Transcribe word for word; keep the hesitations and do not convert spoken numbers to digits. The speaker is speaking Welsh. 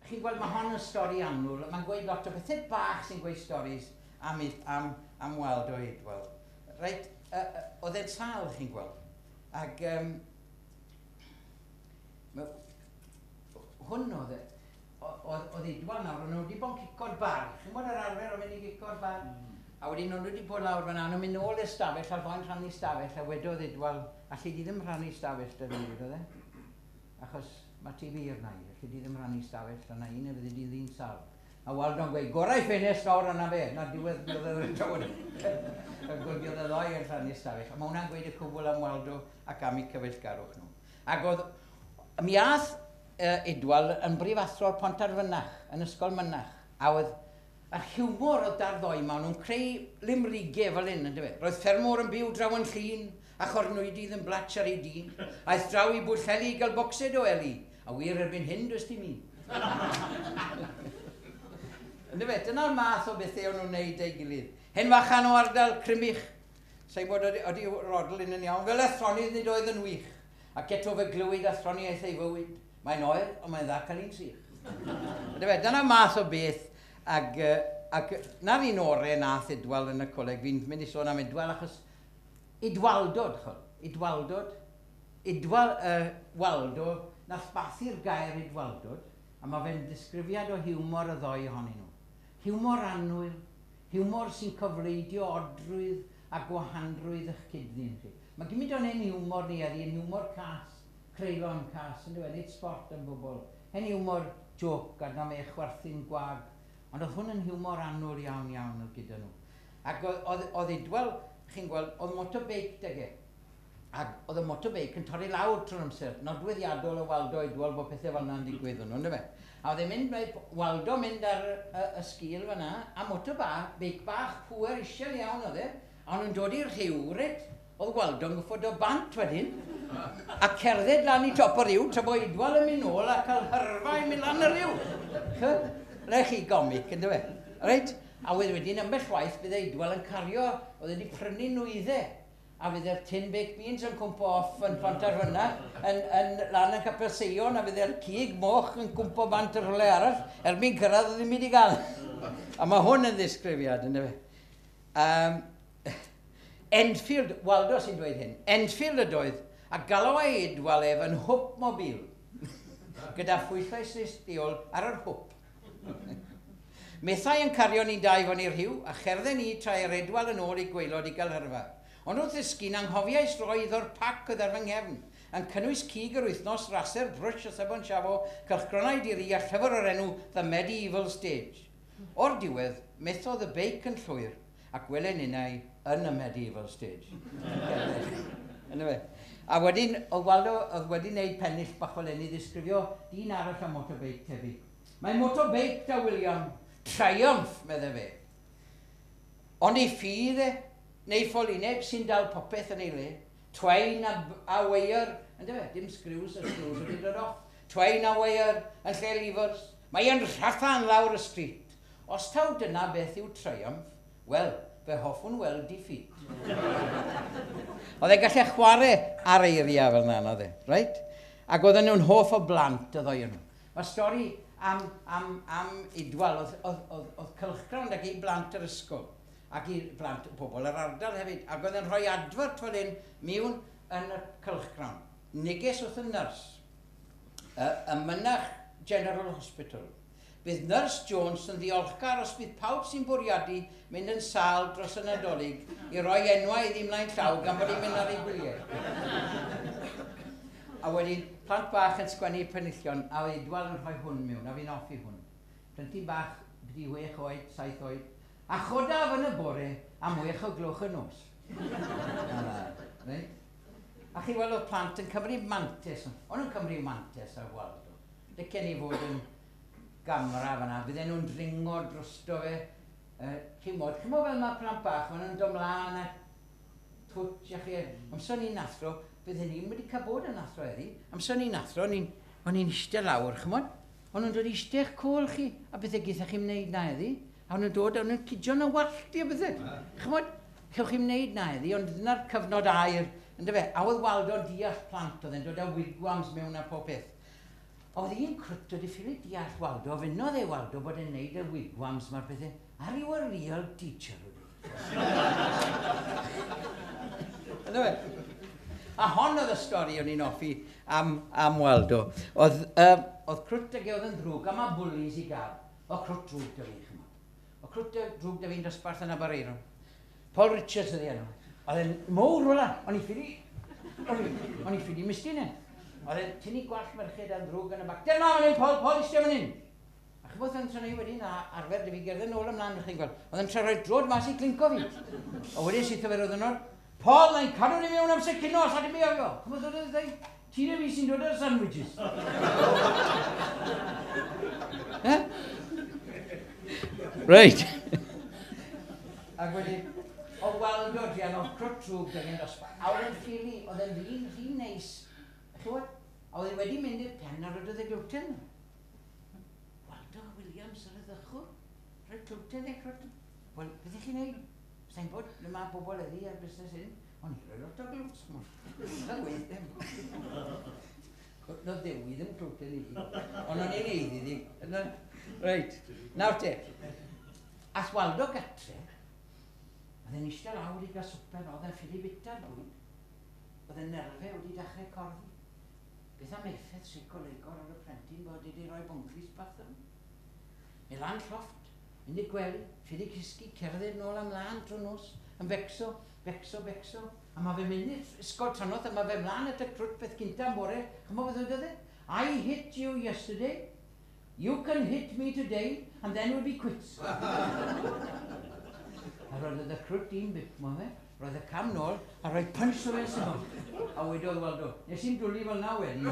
Chi'n gweld, mae hon yn stori annwyl. Mae'n gweud lot o bethau bach sy'n gweud storis am, am, am Waldo Idwal. Reit, uh, uh, oedd e'n sâl, chi'n gweld. Ac um, ma, hwn oedd e, oedd, oedd Idwal nawr, o'n nhw wedi bod yn cico'r bar. Chi'n gwybod yr arfer o fynd i gico'r bar? Mm. A wedyn o'n nhw wedi bod lawr fan'na, nhw'n mynd nôl i'r stafell, a'r ddoi'n rhannu stafell, a wedodd Idwal, alli di ddim rhannu stafell 'da fi, wedodd e. Achos mae ti wir na i, alli di ddim rhannu stafell, yna un e fyddi di ddyn sâl. A Waldo'n gweud, gorau ffenest lawr yna fe, na diwedd bydd oedd yn tywod. A gwybod y ddoi yn rhannu stafell. A mae hwnna'n gweud y cwbl am Waldo ac am eu cyfeillgarwch nhw. Ac oedd, mi ath uh, Idwal yn brifathro'r Pontarfynach, yn Ysgol Mynach. A oedd yr hiwmor oedd da'r ddoi ma, nhw'n creu limrigau fel hyn, yndyfe. Roedd ffermwr yn byw draw yn Llŷn, a chornwydydd yn blatch ar ei dîn. Aeth draw i Bwllheli i gael bocsed o eli. A wir erbyn hyn, does dim un. Yndyfe, dyna'r math o bethau o'n nhw'n neud ei gilydd. Hen fachan o ardal Crymych, sa'n bod oeddi rodl un yn iawn, fel athronydd nid oedd yn wych. Ac eto fe glywyd athroniaeth ei fywyd. Mae'n oer, ond mae'n dda cael un sych. Yndyfe, dyna math o beth. Ac, ac na'r un orau nath Idwal yn y coleg, fi'n mynd i sôn am Idwal achos Idwaldod, chol, Idwaldod, Idwal, uh, Waldo, nath bathu'r gair Idwaldod, a mae fe'n disgrifiad o hiwmor y ddoi ohonyn nhw. Hiwmor annwyl, hiwmor sy'n cofleidio odrwydd a gwahanrwydd eich cyd-ddyn chi. Mae gymaint o'n ein hiwmor ni heddi, yn hiwmor cas, creulon cas, yn dweud, nid sport yn bobl. Hen hiwmor joc a na me chwerthin gwag. Ond oedd hwn yn hiwmor annwyl iawn iawn oedd gyda nhw. Ac oedd, oedd Idwal, chi'n gweld, oedd motorbike 'dag e. Ac oedd y motorbike yn torri lawr trwy'r amser. Nodweddiadol o Waldo Idwal bod pethau fel yna'n digwydd nhw, yndyfe? A oedd e'n mynd, Waldo mynd ar y, y sgil fyna, a motor bach, beic bach, pŵer isel iawn oedd e, a o'n nhw'n dod i'r rhiw, reit? Oedd Waldo'n gwffod o bant wedyn, a cerdded lan i top o'r rhiw, tra bod Idwal yn mynd nôl a cael hyrfa i mynd lan y rhiw. Le chi gomic, yndyfe? Reit? A wedyn wedyn, ambell waith, bydde Idwal yn cario, oedd wedi prynu nwyddau, a fydde'r tin baked beans yn cwmpo off yn Pontarfynach, yn, yn lan yn Capel Seion, a fydde'r cig moch yn cwmpo bant yr rhywle arall, erbyn cyrraedd oedd ddim wedi gael. A mae hwn yn ddisgrifiad, yndyfe. Um, Enfield, Waldo sy'n dweud hyn, Enfield ydoedd, a galwai Idwal ef yn hwp mobil, gyda phwyllais neilltuol ar yr hwp. Methai yn cario ni'n dau fyny'r rhiw, a cherdded ni tra yr Idwal yn ôl i gwaelod i gael hyrfa. Ond wrth ddisgyn, anghofiais roi iddo'r pac oedd ar fy nghefn, yn cynnwys cig yr wythnos, raser, brwsh a sebon siafo, cylchgronau diri a llyfr o'r enw The Medieval Stage. O'r diwedd, methodd y beic yn llwyr, ac welen innau yn y Medieval Stage. Yndyfe? A wedyn, oedd Waldo oedd wedi wneud pennill bach fel hyn i ddisgrifio dyn arall am motorbike tebyg. Mae motorbike da William, Triumph, medde fe. Ond ei ffydd e, neu ffolineb sy'n dal popeth yn ei le, twain a, a weiar, yndyfe, dim screws a screws wedi dod off, twain a weiar yn lle levers, mae e'n rhathan lawr y street. Os taw dyna beth yw Triumph, wel, fe hoffwn weld defeat. Oedd e'n gallu chwarae ar eiriau fel yna, oedd e, right? Ac oedden nhw'n hoff o blant y ddoi nhw. Mae stori am, am, am Idwal, oedd, oedd, oedd, oedd cylchgrawn ag i blant yr ysgol, ac i blant pobl yr ardal hefyd, ac oedd yn rhoi adfert fel hyn mewn yn y cylchgrawn. Neges wrth y nyrs, y, y Mynach General Hospital. Bydd Nyrs Jones yn ddiolchgar os bydd pawb sy'n bwriadu mynd yn sâl dros y Nadolig i roi enwau iddi ymlaen llaw gan bod hi'n mynd ar ei gwyliau. A wedyn, plant bach yn sgwennu penillion, a oedd Idwal yn rhoi hwn mewn, a fi'n hoffi hwn. Plentyn bach, byddi wech oed, saith oed, a chodaf yn y bore am wech o gloch y nos. Right? A chi weld oedd plant yn cymryd mantes, o'n nhw'n cymryd mantes ar Waldo. Licen i fod yn gamra fan'na, bydden nhw'n dringo drosto fe. Uh, chi'n mod, chi'n mod fel mae plant bach, maen nhw'n dod mlaen a twtsh a chi. Amser ni'n athro, bydden ni'n wedi cael bod yn athro heddi. Amser ni'n athro, o'n i'n eistedd lawr, ch'mod? O'n nhw'n dod i eistedd eich côl chi, a bethau geitha chi'n wneud na heddi. A o'n nhw'n dod, o'n nhw'n cidio na wallt i a bethau. Ch'mod, chewch chi'n wneud na heddi, ond dyna'r cyfnod aur, yndyfe? A oedd Waldo'n deall plant, oedd e'n dod â wigwams mewn a pob peth. Oedd un crwt wedi ffili deall Waldo, fynnodd e Waldo bod e'n neud y wigwams ma'r pethau. Are you a real teacher? Ynddo fe? A hon oedd y stori o'n i'n hoffi am, am Waldo. Oedd, um, oedd crwt ag e oedd yn ddrwg, a mae bwlis i gael. Oedd crwt drwg da fi, chymod. Oedd crwt drwg da fi'n dosbarth yn Aberaeron. Paul Richards oedd ei enw. Oedd e'n mowr ola, o'n i ffili, o'n i ffili mistyn e. Oedd e'n tynnu gwallt merched a'n ddrwg yn y bac. Dyma fan hyn, Paul, Paul, eistedd fan hyn. A chybod yn trynu wedyn, a arfer dy fi gerdded nôl ymlaen, chi'n gweld. Oedd e'n trio rhoi drod mas i clinco fi. A wedyn syth o fe roedd yn o'r, Paul, na'n cadw ni mewn amser cino, sa dim i ofio. Chybod oedd e'n dweud, ti na fi sy'n dod ar sandwiches. Eh? Reit. Ac wedyn, o Waldo druan, oedd crwt drwg da fi'n dosbarth. A oedd e'n ffili, oedd e'n ddyn rhy neis. Chybod? A oedd e wedi mynd i'r pen a roedd e glwten. Waldo Williams ar y ddechwr. Rhoi glwten e crwt. Wel, beth ych chi'n neud? Sa'n bod, le mae bobl eddi ar busnes hyn, ond i roi lot o glwts. Na weith ddim. No ddewi ddim glwten i fi. Ond o'n i'n neud iddi. Reit, nawr te. Ath Waldo gatre, oedd e'n eistedd lawr i gael swper, oedd e'n ffili bita'r bwyd. Oedd e'n nerfau wedi dechrau corddi. Beth am effaith seicolegol ar y plentyn bod wedi rhoi bwnclis bach ddim? Neu lan llofft, mynd i'r gwely, ffili cysgu, cerdded nôl ymlaen drwy nos, yn becso, becso, becso. A mae fe'n mynd i'r ysgol trannoeth, a mae fe mlaen at y crwt beth cynta am bore. Chymod beth oedd e? I hit you yesterday, you can hit me today, and then we'll be quits. A roedd y crwt un bit, mo fe? Roedd y cam nôl, a rhoi punch o fe'n syml. A wedodd Waldo, nes i'n dwlu fel na wedyn.